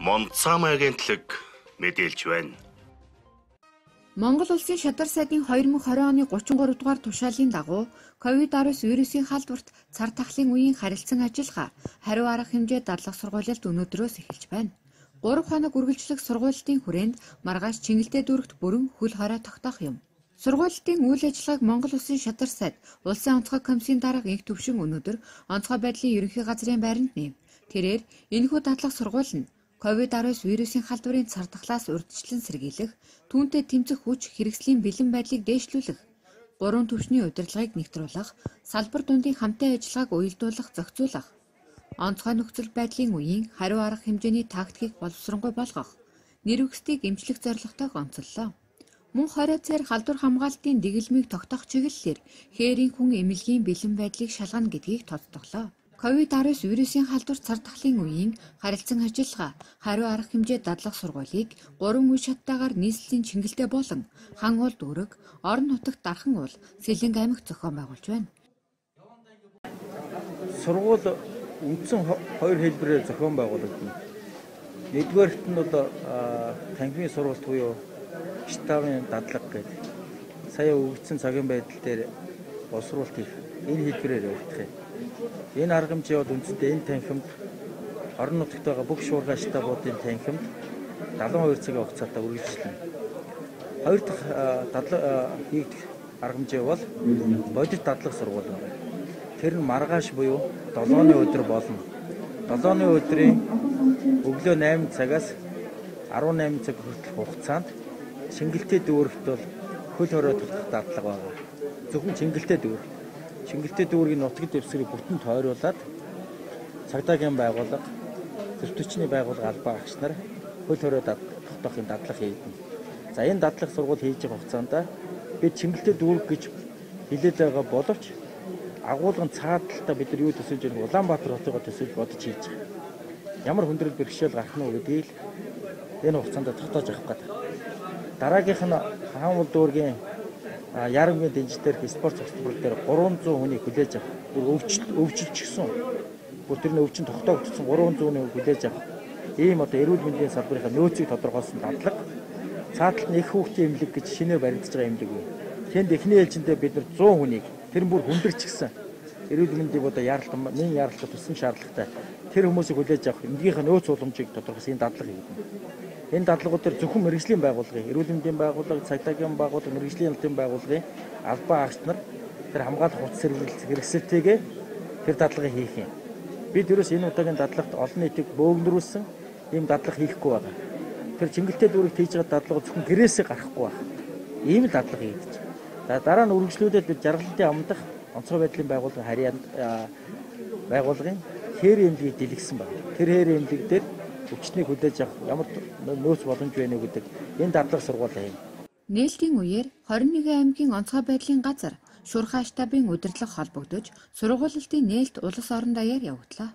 Монцам агентлаг мэдээлж байна. Монгол улсын шадар сайдын 2020 оны 33 дугаар тушаалын дагуу COVID-19 вирусын халдварт цар тахлын үеийн харилцан ажиллагаа хариу арга хэмжээ дадлах сургуулилд өнөөдрөөс эхэлж байна. 3 хоног үргэлжлэх сургуулилтын хүрээнд маргааш Чингэлтэй дүүрэгт бүрэн хөл хорой тогтоох юм. Сургуулилтын үйл ажиллагааг Монгол улсын шадар сайд Улсын онцгой комиссийн дарга инх төвшин өнөөдөр онцгой байдлын ерөнхий газрын байранд нэв. Тэрээр энэхүү дадлах сургууль нь COVID-19 вирусын халдварын цар тахлаас урьдчилан сэргийлэх, түүнтэй тэмцэх хүч хэрэгслийн бэлэн байдлыг дээшлүүлэх, 3 түвшний удирдлагыг нэгтрүүлэх, салбар дундын хамтын ажиллагааг уялдуулах, зохицуулах, онцгой нөхцөл байдлын үеийн хариу арга хэмжээний тактикийг боловсронгуй болгох, нэр хүсдийг эмчлэх зорилготой онцоллоо. Мөн 20 цаар халдвар хамгаалтын дэглэмийг тогтоох чиглэлээр хээрийн хүн эмнэлгийн бэлэн байдлыг шалгана гэдгийг тодтоглоо. COVID-19 вирусын халдвар цар тахлын үеийн харилцан ажиллагаа хариу арга хэмжээ дадлах сургуулийг 3 үе шаттайгаар нийслэлийн Чингэлтэй болон хан уул дүүрэг, орон нутагт дархан уул, Сэлэнг аймагт зохион байгуулж байна. Сургууль үндсэн 2 хэлбэрээр зохион байгуулагдана. Нэгдүгээрт нь бол танхимын сургалт буюу штабын дадлага гэдэг. Сая өгөгдсөн цагийн байдал дээр боловсруулалт хийх энэ хэлбэрээр явагдах юм. Энэ арга хэмжээ бол үндсэндээ энэ танхимд орон нутагт байгаа бүх шуургай штабуудын танхимд 72 цагийн хугацаатай үргэлжлэнэ. Хоёр дахь хийгдэх арга хэмжээ бол бодит дадлага сургууль байна. Тэр нь маргааш буюу 7-ны өдөр болно. 7-ны өдрийн өглөө 8 цагаас 18 цаг хүртэлх хугацаанд Чингэлтэй дүүрэгт бол хөл хорой тогтох дадлага байна. Зөвхөн Чингэлтэй дүүрэг. Чингэлтэй дүүргийн нутгийн дэвсгэрийг бүтэн тойруулаад цагдаагийн байгууллага, зөвтөчний байгууллага албаа агч нар хөл хорой тогтоохын дадлага хийдэг. За энэ дадлага сургууль хийж байгаа хугацаанд бид Чингэлтэй дүүрэг гэж хэлээд байгаа боловч агуулгын цааталтаа бид нар юу төсөөлж байгаа Улаанбаатар хотыгоо төсөөлж бодож хийж байгаа. Ямар хүндрэл бэрхшээл гарах нь гэдгийг энэ хугацаанд тогтоож авах гэдэг. Дараагийнх нь хаан уул дүүргийн Ярамгийн дэнжтэр спорт цогцлбор дээр 300 хүнийг хүлээж авах. Өвчлөлчихсөн. Бүр тэрний өвчин тогтоогдсон 300 хүнийг хүлээж авах. Ийм одоо эрүүл мэндийн салбарынхаа нөөцийг тодорхойлсон дадлага. Цааталт нь их хүүхдийн эмнэлэг гэж шинээр баримтаж байгаа эмнэлэг үү. Тэнд эхний ээлжиндээ бид нар 100 хүнийг тэр бүр хүндэрчихсэн. Эрүүл мэндийн одоо нэн яаралтай тусан шаардлагатай тэр хүмүүсийг хүлээж авах эмнэлгийнхаа нөөц уламжийг тодорхойлсон дадлага хийгдэнэ. Энэ дадлагууд төр зөвхөн мэрэгжлийн байгууллагын, эрүүл мэндийн байгууллага, цагдаагийн байгууллага, мэрэгжлийн албан байгууллагын албаа агч нар тэр хамгаалах хувцас хэрэгсэлтэйгээ тэр дадлагыг хийх юм. Бид ерөөс энэ удаагийн дадлагт олон нийтийг бөөгнөрүүлсэн ийм дадлага хийхгүй байна. Тэр Чингэлтэй дүүрэгт хийж байгаа дадлага зөвхөн гэрээсээ гарахгүй байна. Ийм л дадлага хийгдэж. За дараа нь үргэлжлүүлээд бид жаргалантын амдах онцгой байдлын байгууллагын харьяанд байгууллагын хээрийн эмнэлгийг дэлгэсэн байна. Тэр хээрийн эмнэлэг дээр өвчтнийг хүлээж авах ямар нөөц боломж байна вэ гэдэг энэ дадлага сургууль юм. Нээлтийн үеэр 21 аймгийн онцгой байдлын газар Шуурхай штабын удирдлага холбогдож сургуулилтын нээлт улс орон даяар явагдлаа.